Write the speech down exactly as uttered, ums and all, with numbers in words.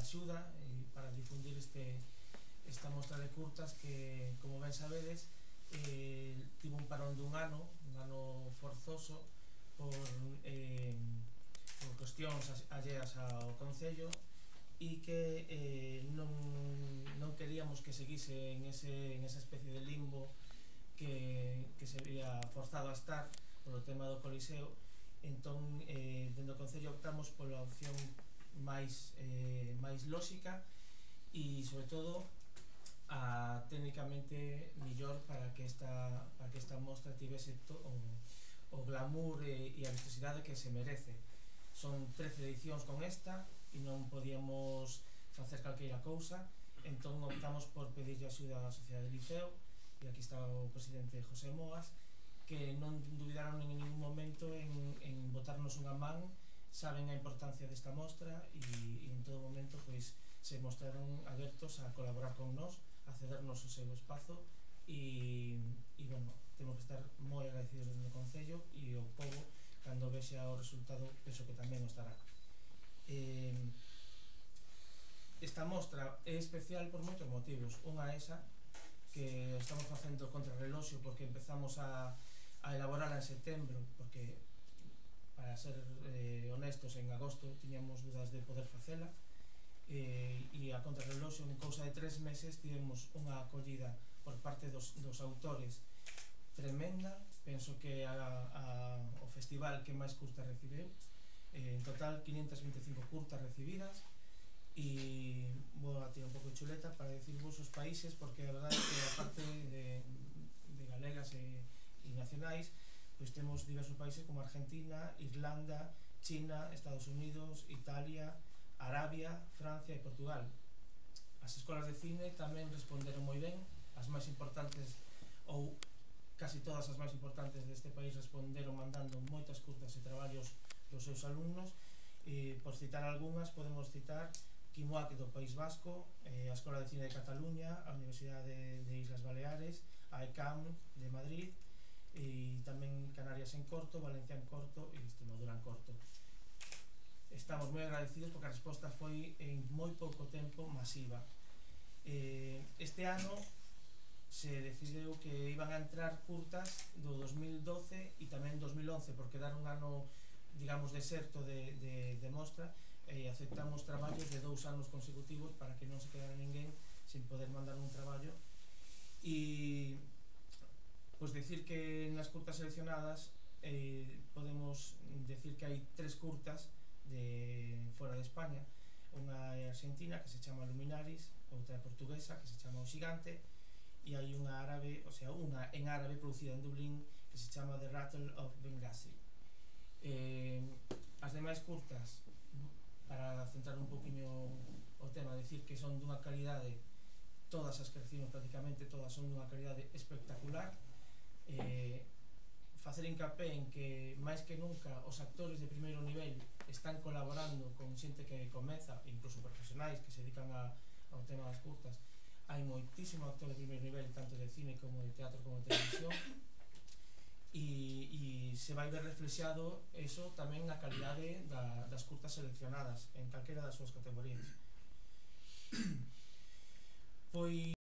axuda e para difundir este, esta mostra de curtas que, como ben sabedes, eh, tivo un parón dun ano, un ano forzoso por, eh, por cuestións alleas ao Concello e que eh, non, non queríamos que seguise en, ese, en esa especie de limbo que, que se había forzado a estar polo tema do Coliseo. Entón, eh, dentro do Concello optamos pola opción máis, eh, máis lóxica e, sobre todo, a técnicamente millor para que esta, para que esta mostra tivese to, o, o glamour e, e a vistosidade que se merece. Son trece edicións con esta e non podíamos facer calqueira cousa, entón optamos por pedirlle axuda á Sociedade de Liceo, e aquí está o presidente José Moas, que non dubidaron en ningún momento en, en botarnos unha man. Saben a importancia desta mostra e, e en todo momento pois, se mostraron abertos a colaborar con nós, a cedernos o seu espazo e, e bueno, temos que estar moi agradecidos desde o Concello e o povo, cando vexa o resultado, penso que tamén o estará. Eh, esta mostra é especial por moitos motivos. Unha esa, que estamos facendo contra reloxo porque empezamos a, a elaborarla en setembro, porque, para ser eh, honestos, en agosto tiñamos dudas de poder facela, eh, e a contrarreloxo en cousa de tres meses tivemos unha acollida por parte dos, dos autores tremenda. Penso que a, a, o festival que máis curtas recibeu, eh, en total quinientas vinte e cinco curtas recibidas, e vou a tirar un pouco de chuleta para decirvos os países, porque a verdade é que a parte de, de galegas e, e nacionais, pois temos diversos países como Argentina, Irlanda, China, Estados Unidos, Italia, Arabia, Francia e Portugal. As escolas de cine tamén responderon moi ben, as máis importantes, ou casi todas as máis importantes deste país, responderon mandando moitas curtas e traballos dos seus alumnos. E, por citar algunhas, podemos citar Quimoac do País Vasco, eh, a Escola de Cine de Cataluña, a Universidade de, de Islas Baleares, a E C A M de Madrid, e tamén Canarias en corto, Valencia en corto e Extremadura en corto. Estamos moi agradecidos porque a resposta foi en moi pouco tempo masiva. Eh, este ano se decideu que iban a entrar curtas do dos mil doce e tamén dos mil once, porque dar un ano, digamos, deserto de, de, de mostra, e aceptamos traballos de dous anos consecutivos para que non se quedara ninguén sin poder mandar un traballo. E pois decir que nas curtas seleccionadas eh, podemos decir que hai tres curtas de fora de España. Unha é argentina, que se chama Luminaris, outra é portuguesa, que se chama O Xigante, e hai unha árabe, o sea, unha en árabe producida en Dublín, que se chama The Rattle of Benghazi. Eh, as demais curtas, para centrar un poquinho o tema, decir que son dunha calidade, todas as que recibimos prácticamente todas son dunha calidade espectacular. Eh, facer hincapé en que máis que nunca os actores de primeiro nivel están colaborando con xente que comeza, incluso profesionais que se dedican a, ao tema das curtas. Hai moitísimo actor de primeiro nivel, tanto de cine como de teatro como de televisión, e, e se vai ver reflexado eso tamén na calidade da, das curtas seleccionadas en calquera das súas categorías. Pois